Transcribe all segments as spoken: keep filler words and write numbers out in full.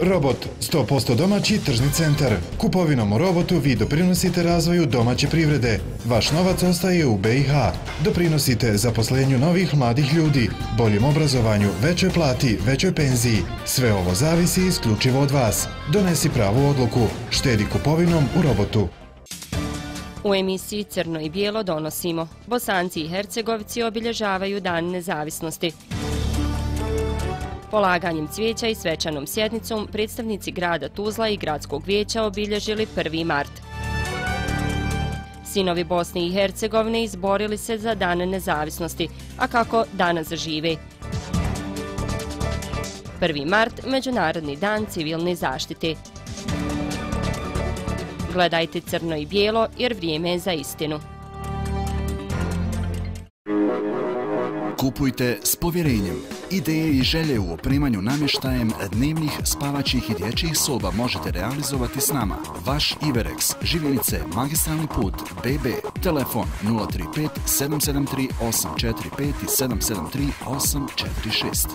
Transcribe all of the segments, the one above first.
Robot, sto posto domaći tržni centar. Kupovinom u Robotu vi doprinosite razvoju domaće privrede. Vaš novac ostaje u B i H. Doprinosite zaposlenju novih mladih ljudi, boljem obrazovanju, većoj plati, većoj penziji. Sve ovo zavisi isključivo od vas. Donesi pravu odluku. Štedi kupovinom u Robotu. U emisiji Crno i bijelo donosimo. Bosanci i Hercegovci obilježavaju Dan nezavisnosti. Polaganjem cvijeća i svečanom sjednicom predstavnici grada Tuzla i gradskog vijeća obilježili prvi mart. Sinovi Bosne i Hercegovine izborili se za Dan nezavisnosti, a kako danas zažive. prvi mart, Međunarodni dan civilne zaštite. Gledajte Crno i bijelo jer vrijeme je za istinu. Kupujte s povjerenjem. Ideje i želje u opremanju namještajem dnevnih, spavaćih i dječjih soba možete realizovati s nama. Vaš Iverex, Živjenice, Magistralni put, B B, telefon nula tri pet sedam sedam tri osam četiri pet i sedam sedam tri osam četiri šest.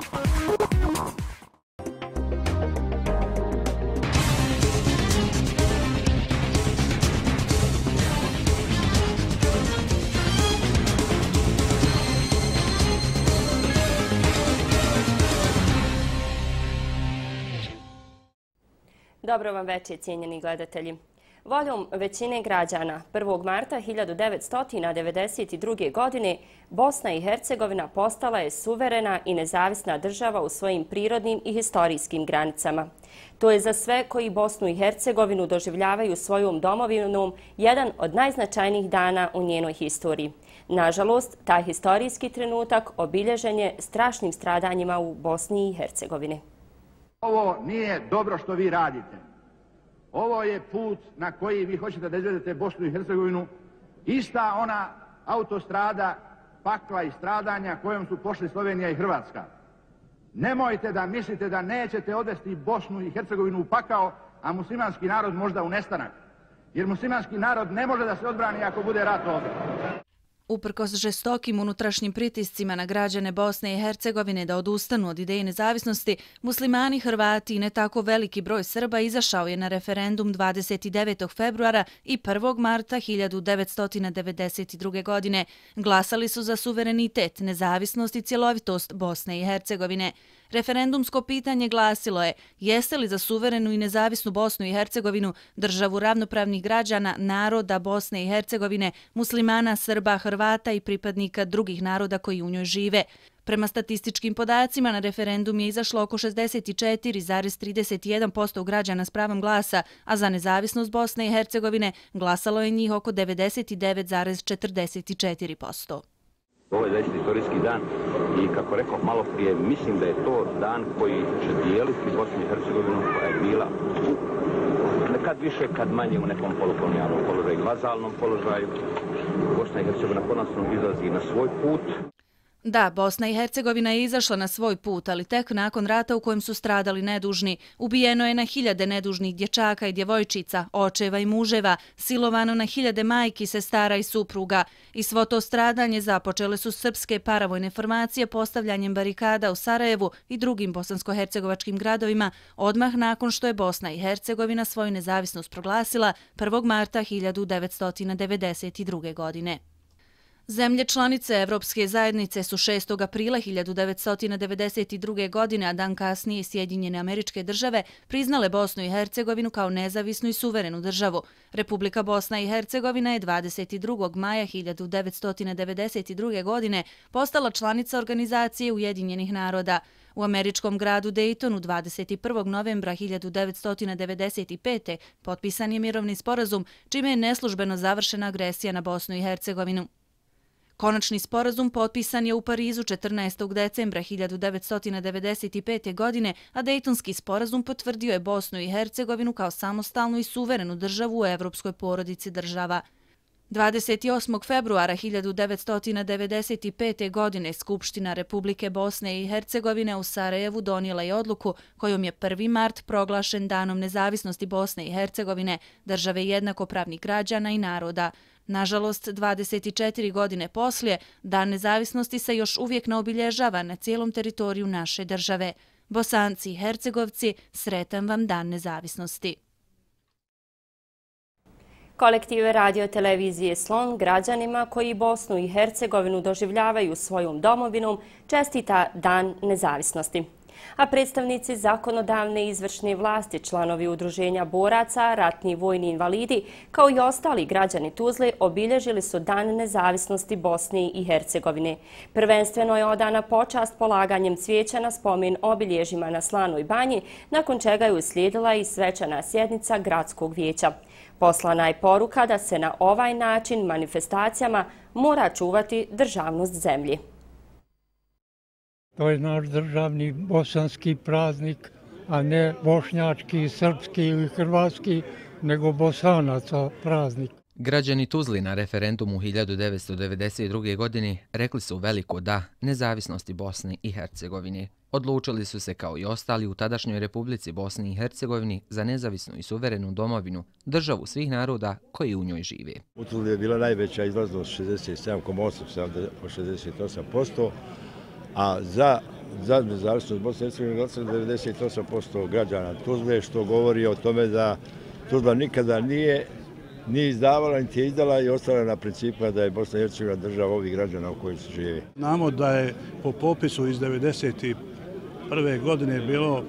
Dobro vam večer, cijenjeni gledatelji. Voljom većine građana prvog marta hiljadu devetsto devedeset druge. godine Bosna i Hercegovina postala je suverena i nezavisna država u svojim prirodnim i historijskim granicama. To je za sve koji Bosnu i Hercegovinu doživljavaju svojom domovinom jedan od najznačajnijih dana u njenoj historiji. Nažalost, taj historijski trenutak obilježen je strašnim stradanjima u Bosni i Hercegovini. Ovo nije dobro što vi radite. Ovo je put na koji vi hoćete da izvedete Bosnu i Hercegovinu. Ista ona autostrada pakla i stradanja kojom su pošli Slovenija i Hrvatska. Nemojte da mislite da nećete odvesti Bosnu i Hercegovinu u pakao, a muslimanski narod možda u nestanak. Jer muslimanski narod ne može da se odbrani ako bude rat ovdje. Uprkos žestokim unutrašnjim pritiscima na građane Bosne i Hercegovine da odustanu od ideje nezavisnosti, muslimani, Hrvati i ne tako veliki broj Srba izašao je na referendum dvadeset devetog februara i prvog marta hiljadu devetsto devedeset druge. godine. Glasali su za suverenitet, nezavisnost i cjelovitost Bosne i Hercegovine. Referendumsko pitanje glasilo je: jeste li za suverenu i nezavisnu Bosnu i Hercegovinu, državu ravnopravnih građana, naroda Bosne i Hercegovine, muslimana, Srba, Hrvata i pripadnika drugih naroda koji u njoj žive. Prema statističkim podacima na referendum je izašlo oko šezdeset četiri zarez trideset jedan posto građana s pravom glasa, a za nezavisnost Bosne i Hercegovine glasalo je njih oko devedeset devet zarez četrdeset četiri posto. Ovo je zaista istorijski dan i kako rekao malo prije, mislim da je to dan koji će dijeliti Bosnu i Hercegovinu koja je bila nekad više, kad manje u nekom polukolonijalnom položaju, vazalnom položaju. Bosna i Hercegovina konačno izlazi na svoj put. Da, Bosna i Hercegovina je izašla na svoj put, ali tek nakon rata u kojem su stradali nedužni. Ubijeno je na hiljade nedužnih dječaka i djevojčica, očeva i muževa, silovano na hiljade majki, sestara i supruga. I svo to stradanje započele su srpske paravojne formacije postavljanjem barikada u Sarajevu i drugim bosansko-hercegovačkim gradovima odmah nakon što je Bosna i Hercegovina svoju nezavisnost proglasila prvog marta hiljadu devetsto devedeset druge. godine. Zemlje članice Evropske zajednice su šestog aprila hiljadu devetsto devedeset druge. godine, a dan kasnije Sjedinjene Američke Države, priznale Bosnu i Hercegovinu kao nezavisnu i suverenu državu. Republika Bosna i Hercegovina je dvadeset drugog maja hiljadu devetsto devedeset druge. godine postala članica Organizacije Ujedinjenih naroda. U američkom gradu Daytonu dvadeset prvog novembra hiljadu devetsto devedeset pete. potpisan je mirovni sporazum, čime je neslužbeno završena agresija na Bosnu i Hercegovinu. Konačni sporazum potpisan je u Parizu četrnaestog decembra hiljadu devetsto devedeset pete. godine, a Dejtonski sporazum potvrdio je Bosnu i Hercegovinu kao samostalnu i suverenu državu u evropskoj porodici država. dvadeset osmog februara hiljadu devetsto devedeset pete. godine Skupština Republike Bosne i Hercegovine u Sarajevu donijela je odluku kojom je prvi mart proglašen danom nezavisnosti Bosne i Hercegovine, države jednakopravnih građana i naroda. Nažalost, dvadeset četiri godine poslije, Dan nezavisnosti se još uvijek ne obilježava na cijelom teritoriju naše države. Bosanci i Hercegovci, sretan vam dan nezavisnosti. Kolektiv radio televizije Slon građanima koji Bosnu i Hercegovinu doživljavaju svojom domovinom čestita Dan nezavisnosti. A predstavnici zakonodavne i izvršne vlasti, članovi udruženja boraca, ratni vojni invalidi, kao i ostali građani Tuzle obilježili su Dan nezavisnosti Bosne i Hercegovine. Prvenstveno je odana počast polaganjem cvijeća na spomen obilježjima na Slanoj banji, nakon čega je uslijedila i svečana sjednica gradskog vijeća. Poslana je poruka da se na ovaj način manifestacijama mora čuvati državnost zemlji. To je naš državni bosanski praznik, a ne bošnjački, srpski ili hrvatski, nego bosanaca praznik. Građani Tuzli na referendumu hiljadu devetsto devedeset druge. godine rekli su veliko da nezavisnosti Bosne i Hercegovine. Odlučili su se kao i ostali u tadašnjoj Republici Bosni i Hercegovini za nezavisnu i suverenu domovinu, državu svih naroda koji u njoj žive. U Tuzli je bila najveća izlaznost šezdeset sedam zarez osam do šezdeset osam posto, a za, za nezavisnost Bosne i Hercegovine glasalo devedeset osam posto građana Tuzle, što govori o tome da Tuzla nikada nije nije izdavala, niti je izdala i ostala na principima da je Bosna i Hercegovina država ovih građana u kojoj se živi. Znamo da je po popisu iz devedeset prve. godine bilo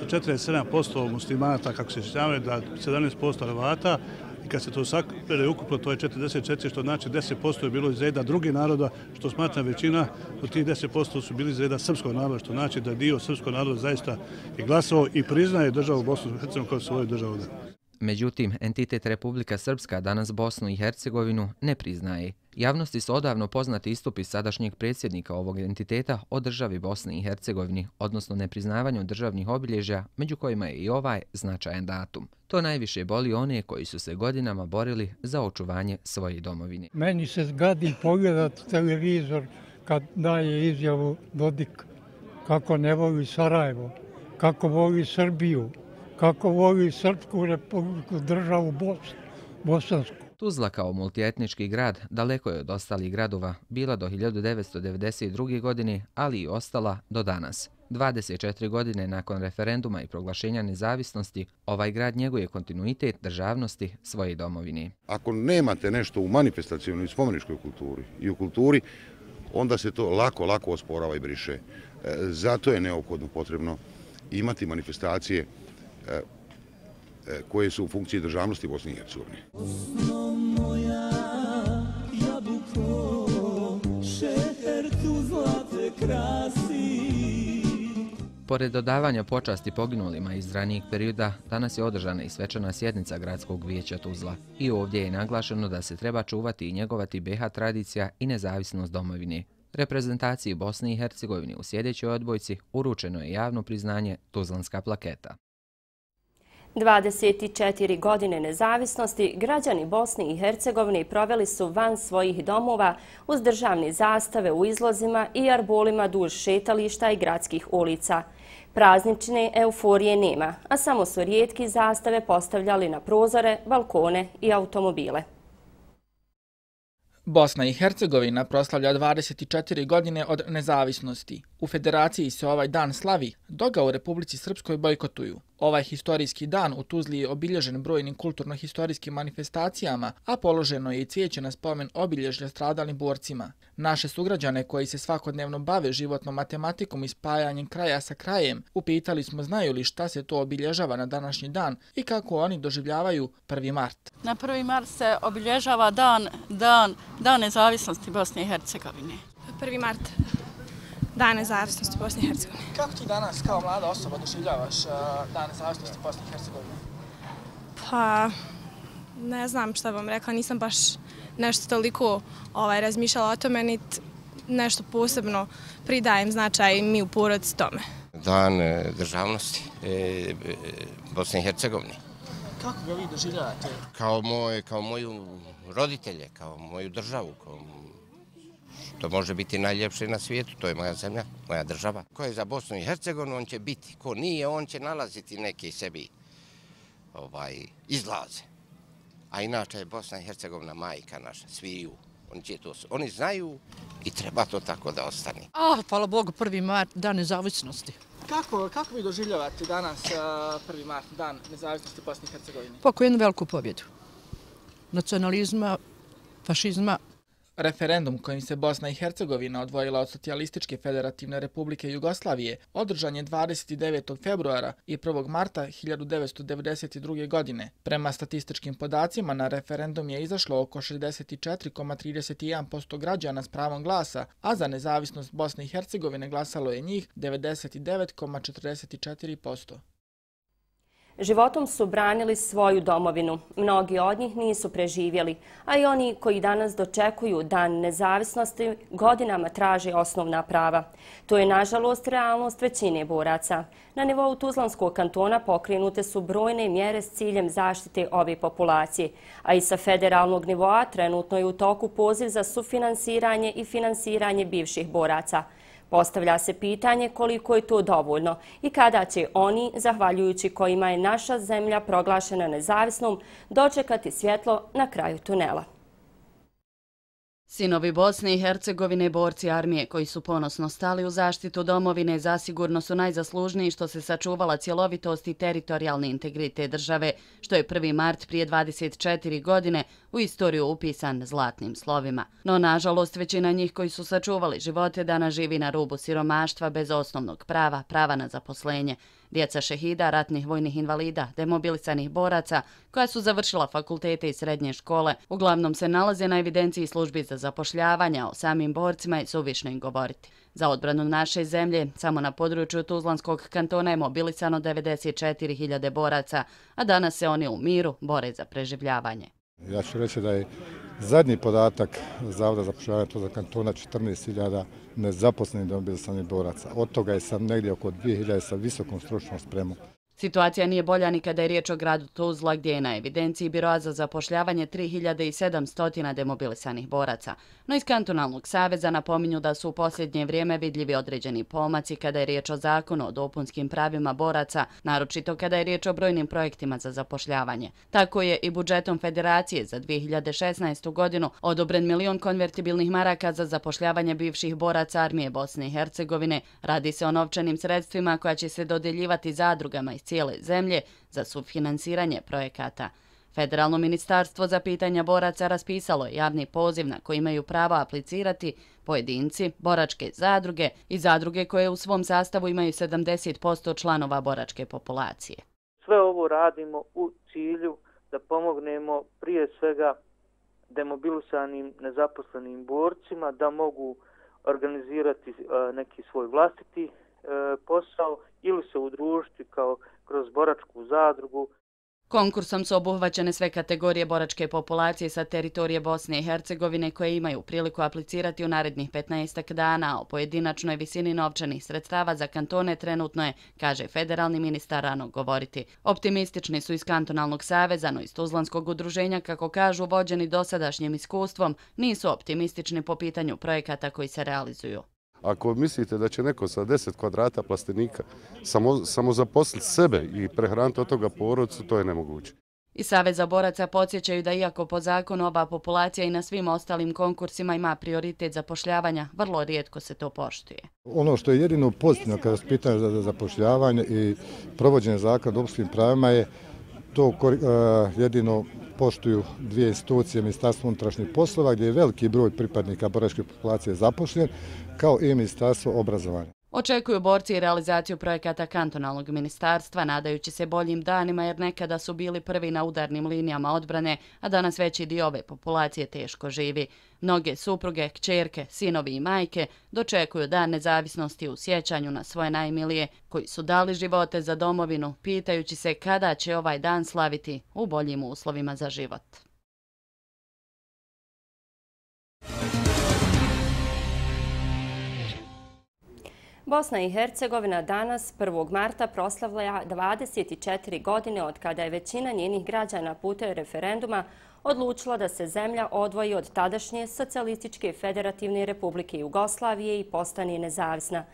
četrdeset sedam posto muslimanaca, kako se sjećamo, da sedamnaest posto Hrvata, i kad se to sakupere ukupno, to je četrdeset četiri, što znači deset posto je bilo iz reda drugih naroda, što smatra većina, od tih deset posto su bili iz reda srpskog naroda, što znači da dio srpskog naroda zaista je glasao i priznaje državu Bosnu i Hercegovinu kao svoju državu. Međutim, entitet Republika Srpska danas Bosnu i Hercegovinu ne priznaje. Javnosti su odavno poznati istupi sadašnjeg predsjednika ovog entiteta o državi Bosni i Hercegovini, odnosno nepriznavanju državnih obilježja, među kojima je i ovaj značajan datum. To najviše boli one koji su se godinama borili za očuvanje svoje domovine. Meni se zgadi pogledati televizor kad daje izjavu Dodik kako ne voli Sarajevo, kako voli Srbiju, kako voli Srpsku republiku, državu Bosnu, bosansku. Tuzla kao multietnički grad daleko je od ostalih gradova bila do hiljadu devetsto devedeset druge. godine, ali i ostala do danas. dvadeset četiri godine nakon referenduma i proglašenja nezavisnosti, ovaj grad njeguje kontinuitet državnosti svoje domovine. Ako nemate nešto u manifestacijonoj i spomeničkoj kulturi i u kulturi, onda se to lako, lako osporava i briše. Zato je neophodno potrebno imati manifestacije koje su u funkciji državnosti Bosne i Hercegovine. Pored dodavanja počasti poginulima iz ranijeg perioda, danas je održana i svečana sjednica gradskog vijeća Tuzla. I ovdje je naglašeno da se treba čuvati i njegovati be ha tradicija i nezavisnost domovine. Reprezentaciji Bosne i Hercegovine u sljedećoj odbojci uručeno je javno priznanje Tuzlanska plaketa. dvadeset četiri godine nezavisnosti građani Bosne i Hercegovine proveli su van svojih domova uz državne zastave u izlozima i arbolima duž šetališta i gradskih ulica. Praznične euforije nema, a samo su rijetki zastave postavljali na prozore, balkone i automobile. Bosna i Hercegovina proslavlja dvadeset četiri godine od nezavisnosti. U Federaciji se ovaj dan slavi, dok ga u Republici Srpskoj bojkotuju. Ovaj historijski dan u Tuzli je obilježen brojnim kulturno-historijskim manifestacijama, a položeno je i cvijeće na spomen obilježja stradalim borcima. Naše sugrađane koji se svakodnevno bave životnom matematikom i spajanjem kraja sa krajem, upitali smo znaju li šta se to obilježava na današnji dan i kako oni doživljavaju prvi mart. Na prvi mart se obilježava dan, dan, dan nezavisnosti Bosne i Hercegovine. prvi mart. Dan nezavisnosti Bosne i Hercegovine. Kako ti danas kao mlada osoba doživljavaš Dan nezavisnosti Bosne i Hercegovine? Pa, ne znam šta vam rekla, nisam baš nešto toliko ovaj, razmišljala o tome, niti nešto posebno pridajem značaj mi u porodici tome. Dan državnosti e, Bosne i Hercegovine. Kako ga vi doživljavate? Kao, moj, kao moju roditelje, kao moju državu, kao to može biti najljepše na svijetu, to je moja zemlja, moja država. Ko je za Bosnu i Hercegovinu, on će biti. Ko nije, on će nalaziti neke sebi ovaj, izlaze. A inače je Bosna i Hercegovina majka naša, sviju. Oni, će to, oni znaju i treba to tako da ostane. A, hvala Bogu, prvi mart, dan nezavisnosti. Kako, kako vi doživljavate danas prvi mart, dan nezavisnosti Bosne i Hercegovine? Poko jednu veliku pobjedu. Nacionalizma, fašizma. Referendum kojim se Bosna i Hercegovina odvojila od Socijalističke federativne republike Jugoslavije održan je dvadeset devetog februara i prvog marta hiljadu devetsto devedeset druge. godine. Prema statističkim podacima na referendum je izašlo oko šezdeset četiri zarez trideset jedan posto građana s pravom glasa, a za nezavisnost Bosne i Hercegovine glasalo je njih devedeset devet zarez četrdeset četiri posto. Životom su branili svoju domovinu. Mnogi od njih nisu preživjeli, a i oni koji danas dočekuju dan nezavisnosti godinama traže osnovna prava. To je, nažalost, realnost većine boraca. Na nivou Tuzlanskog kantona pokrenute su brojne mjere s ciljem zaštite ove populacije, a i sa federalnog nivoa trenutno je u toku poziv za sufinansiranje i finansiranje bivših boraca. Postavlja se pitanje koliko je to dovoljno i kada će oni, zahvaljujući kojima je naša zemlja proglašena nezavisnom, dočekati svjetlo na kraju tunela. Sinovi Bosne i Hercegovine, borci armije koji su ponosno stali u zaštitu domovine, zasigurno su najzaslužniji što se sačuvala cjelovitost i teritorijalni integritet države, što je prvi mart prije dvadeset četiri godine u istoriju upisan zlatnim slovima. No, nažalost, većina njih koji su sačuvali živote danas živi na rubu siromaštva bez osnovnog prava, prava na zaposlenje. Djeca šehida, ratnih vojnih invalida, demobilisanih boraca, koja su završila fakultete i srednje škole, uglavnom se nalaze na evidenciji službi za zapošljavanje, o samim borcima je suvišno im govoriti. Za odbranu naše zemlje, samo na području Tuzlanskog kantona je mobilisano devedeset četiri hiljade boraca, a danas se oni u miru bore za preživljavanje. Ja ću reći da je zadnji podatak Zavoda za zapošljavanje Tuzlanskog kantona četrnaest hiljada nezaposlenih demobilisanih boraca. Od toga je sam negdje oko dvije hiljade sa visokom stručnom spremom. Situacija nije bolja ni kada je riječ o gradu Tuzla, gdje je na evidenciji Biroa za zapošljavanje tri hiljade sedamsto demobilisanih boraca. No iz Kantonalnog saveza napominju da su u posljednje vrijeme vidljivi određeni pomaci kada je riječ o zakonu o dopunskim pravima boraca, naročito kada je riječ o brojnim projektima za zapošljavanje. Tako je i budžetom Federacije za dvije hiljade šesnaestu. godinu odobren milion konvertibilnih maraka za zapošljavanje bivših boraca armije Bosne i Hercegovine. Radi se o novčanim sredstvima koja će se dodjeljivati zadrugama iz cijele zemlje za sufinansiranje projekata. Federalno ministarstvo za pitanja boraca raspisalo je javni poziv na koji imaju pravo aplicirati pojedinci, boračke zadruge i zadruge koje u svom sastavu imaju sedamdeset posto članova boračke populacije. Sve ovo radimo u cilju da pomognemo prije svega demobilisanim nezaposlenim borcima da mogu organizirati neki svoj vlastiti posao ili se udružiti kao kroz boračku zadrugu. Konkursom su obuhvaćene sve kategorije boračke populacije sa teritorije Bosne i Hercegovine koje imaju priliku aplicirati u narednih petnaestak dana. O pojedinačnoj visini novčanih sredstava za kantone trenutno je, kaže federalni ministar, rano govoriti. Optimistični su iz Kantonalnog saveza, no iz Tuzlanskog udruženja, kako kažu, vođeni dosadašnjim iskustvom, nisu optimistični po pitanju projekata koji se realizuju. Ako mislite da će neko sa deset kvadrata plastenika samo, samo zaposliti sebe i prehraniti od toga porodicu, to je nemoguće. I Saveza boraca podsjećaju da iako po zakonu ova populacija i na svim ostalim konkursima ima prioritet zapošljavanja, vrlo rijetko se to poštuje. Ono što je jedino pozitivno kada se pitanje za zapošljavanje i provođenje zakona o dopunskim pravima je to uh, jedino poštuju dvije institucije, Ministarstvo unutrašnjih poslova, gdje je veliki broj pripadnika boračke populacije zapošljen, kao i Ministarstvo obrazovanja. Očekuju borci i realizaciju projekata Kantonalnog ministarstva, nadajući se boljim danima jer nekada su bili prvi na udarnim linijama odbrane, a danas veći dio ove populacije teško živi. Mnoge supruge, kćerke, sinovi i majke dočekuju dan nezavisnosti u sjećanju na svoje najmilije koji su dali živote za domovinu, pitajući se kada će ovaj dan slaviti u boljim uslovima za život. Bosna i Hercegovina danas, prvog marta, proslavlja dvadeset četiri godine od kada je većina njenih građana putem referenduma odlučila da se zemlja odvoji od tadašnje Socijalističke federativne republike Jugoslavije i postane nezavisna.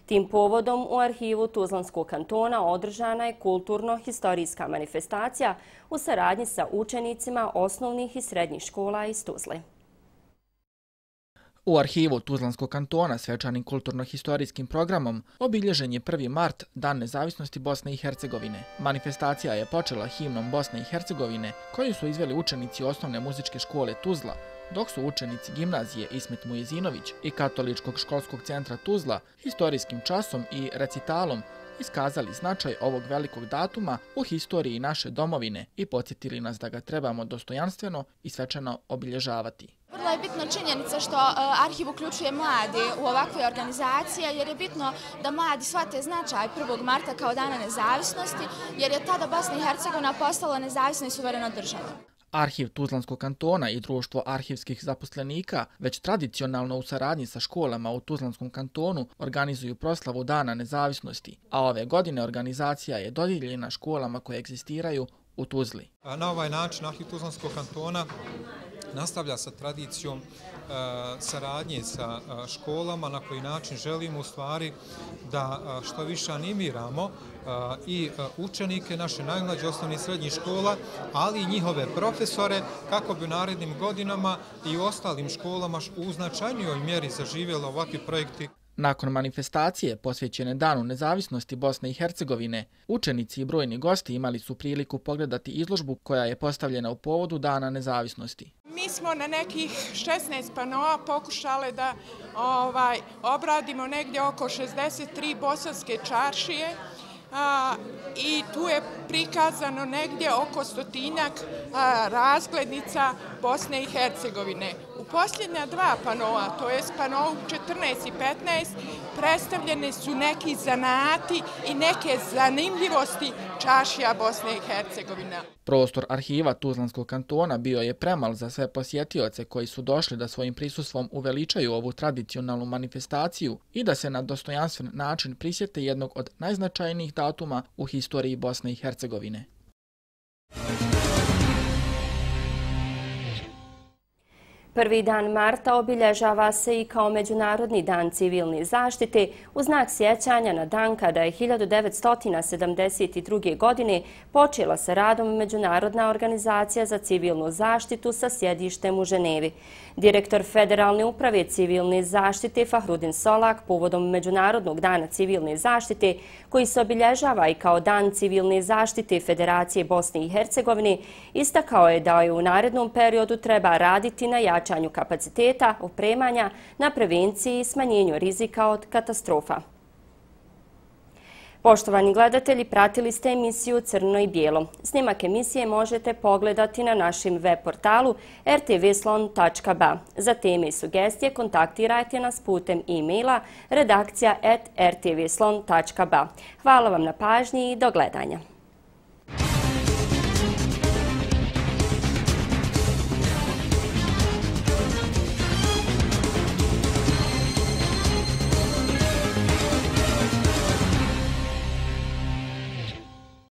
Tim povodom u arhivu Tuzlanskog kantona održana je kulturno-historijska manifestacija u saradnji sa učenicima osnovnih i srednjih škola iz Tuzle. U arhivu Tuzlanskog kantona svečanim kulturno-historijskim programom obilježen je prvi mart, Dan nezavisnosti Bosne i Hercegovine. Manifestacija je počela himnom Bosne i Hercegovine, koju su izveli učenici osnovne muzičke škole Tuzla, dok su učenici gimnazije Ismet Mujezinović i Katoličkog školskog centra Tuzla historijskim časom i recitalom iskazali značaj ovog velikog datuma u historiji naše domovine i podsjetili nas da ga trebamo dostojanstveno i svečano obilježavati. Vrlo je bitna činjenica što arhiv uključuje mlade u ovakve organizacije, jer je bitno da mladi shvate značaj prvog marta kao Dana nezavisnosti, jer je tada Bosna i Hercegovina postala nezavisna i suverena država. Arhiv Tuzlanskog kantona i Društvo arhivskih zaposlenika već tradicionalno u saradnji sa školama u Tuzlanskom kantonu organizuju proslavu Dana nezavisnosti, a ove godine organizacija je dodijeljena školama koje egzistiraju u Tuzli. Na ovaj način Arhiv Tuzlanskog kantona nastavlja sa tradicijom saradnje sa školama, na koji način želimo u stvari da što više animiramo i učenike naše najmlađe osnovnih i srednjih škola, ali i njihove profesore, kako bi u narednim godinama i u ostalim školama u značajnijoj mjeri zaživjeli ovakvi projekti. Nakon manifestacije posvećene Danu nezavisnosti Bosne i Hercegovine, učenici i brojni gosti imali su priliku pogledati izložbu koja je postavljena u povodu Dana nezavisnosti. Mi smo na nekih šesnaest panoa pokušali da ovaj, obradimo negdje oko šezdeset tri bosanske čaršije, a, i tu je prikazano negdje oko stotinjak a, razglednica Bosne i Hercegovine. U posljednja dva panoa, to je panovu četrnaest i petnaest, predstavljene su neki zanati i neke zanimljivosti čaršija Bosne i Hercegovine. Prostor arhiva Tuzlanskog kantona bio je premal za sve posjetioce koji su došli da svojim prisustvom uveličaju ovu tradicionalnu manifestaciju i da se na dostojanstven način prisjete jednog od najznačajnijih datuma u historiji Bosne i Hercegovine. Prvi dan marta obilježava se i kao Međunarodni dan civilne zaštite u znak sjećanja na dan kada je hiljadu devetsto sedamdeset druge. godine počela sa radom Međunarodna organizacija za civilnu zaštitu sa sjedištem u Ženevi. Direktor Federalne uprave civilne zaštite Fahrudin Solak povodom Međunarodnog dana civilne zaštite, koji se obilježava i kao Dan civilne zaštite Federacije Bosne i Hercegovine, istakao je da je u narednom periodu treba raditi na jačanju kapaciteta, opremanja, na prevenciji i smanjenju rizika od katastrofa. Poštovani gledatelji, pratili ste emisiju Crno i bijelo. Snimak emisije možete pogledati na našem web portalu r t v slon tačka b a. Za teme i sugestije kontaktirajte nas putem e-maila redakcija at r t v slon tačka b a. Hvala vam na pažnji i do gledanja.